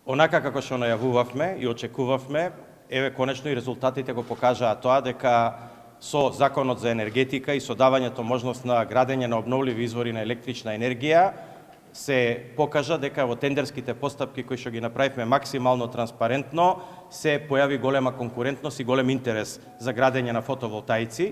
Онака како што најавувавме и очекувавме, еве конечно и резултатите го покажаа тоа дека со Законот за енергетика и со давањето можност на градење на обновливи извори на електрична енергија се покажа дека во тендерските постапки кои што ги направивме максимално транспарентно се појави голема конкурентност и голем интерес за градење на фотоволтаици.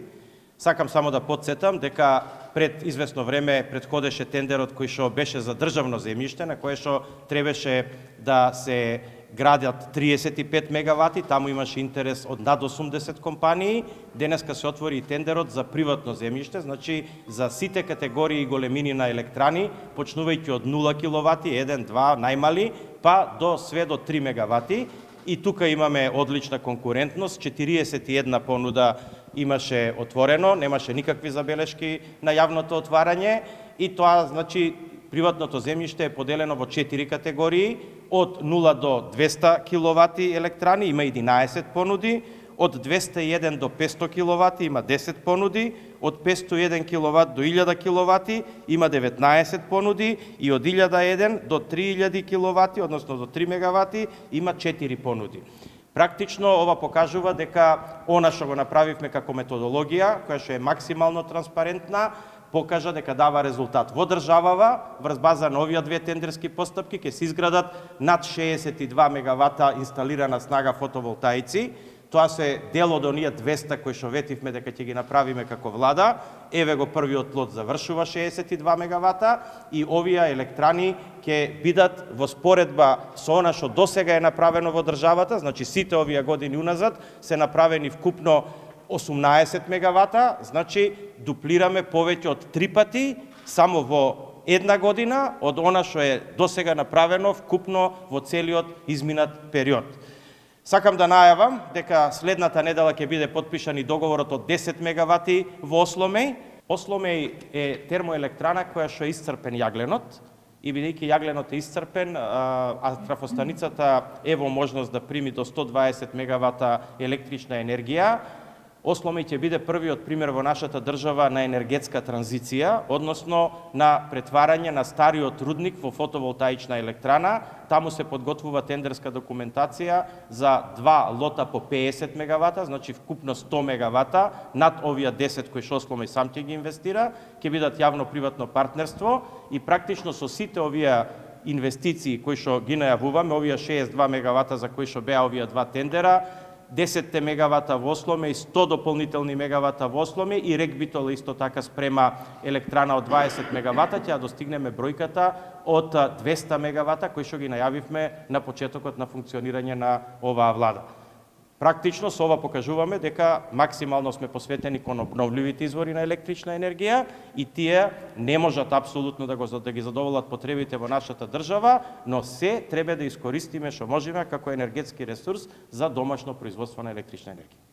Сакам само да потсетам дека пред известно време претходеше тендерот кој што беше за државно земјиште, на кое што требаше да се градат 35 мегавати, таму имаше интерес од над 80 компании. Денеска се отвори и тендерот за приватно земјиште, значи за сите категории и големини на електрани, почнувајќи од 0 киловати, 1, 2, најмали, па до све до 3 мегавати. И тука имаме одлична конкурентност, 41 понуда имаше отворено, немаше никакви забелешки на јавното отварање и тоа значи приватното земјиште е поделено во 4 категории, од 0 до 200 киловати електрани има 11 понуди, од 201 до 500 киловати има 10 понуди, од 501 киловат до 1000 киловати има 19 понуди и од 1001 до 3000 киловати, односно до 3 мегавати, има 4 понуди. Практично ова покажува дека она што го направивме како методологија, која што е максимално транспарентна, покажа дека дава резултат. Во државава, врз база на овие две тендерски постапки, ќе се изградат над 62 мегавата инсталирана снага фотоволтаици. Тоа се дел од оние 200 кои што ветивме дека ќе ги направиме како влада. Еве го првиот лот завршува 62 мегавата и овие електрани ќе бидат во споредба со она што досега е направено во државата, значи сите овие години уназад се направени вкупно 18 мегавата, значи дуплираме повеќе од 3 пати само во една година од она што е досега направено вкупно во целиот изминат период. Сакам да најавам дека следната недела ќе биде подпишан и договорот од 10 мегавати во Осломеј. Осломеј е термоелектрана која што е исцрпен јагленот и бидејќи јагленот е исцрпен, а трафостаницата е во можност да прими до 120 мегавата електрична енергија, Осломеј ќе биде првиот пример во нашата држава на енергетска транзиција, односно на претварање на стариот рудник во фотоволтаична електрана. Таму се подготвува тендерска документација за 2 лота по 50 мегавата, значи вкупно 100 мегавата, над овие 10 кои што Осломеј сам ќе ги инвестира, ќе бидат јавно-приватно партнерство и практично со сите овие инвестиции кои што ги најавуваме, овие 62 мегавата за кои што беа овие два тендера, 10 мегавата во Осломеј, 100 дополнителни мегавата во Осломеј и Рекбитол исто така спрема електрана од 20 мегавата, ќе достигнеме бројката од 200 мегавата кои што ги најавивме на почетокот на функционирање на оваа влада. Практично со ова покажуваме дека максимално сме посветени кон обновливите извори на електрична енергија и тие не можат апсолутно да ги задоволат потребите во нашата држава, но се треба да искористиме што можеме како енергетски ресурс за домашно производство на електрична енергија.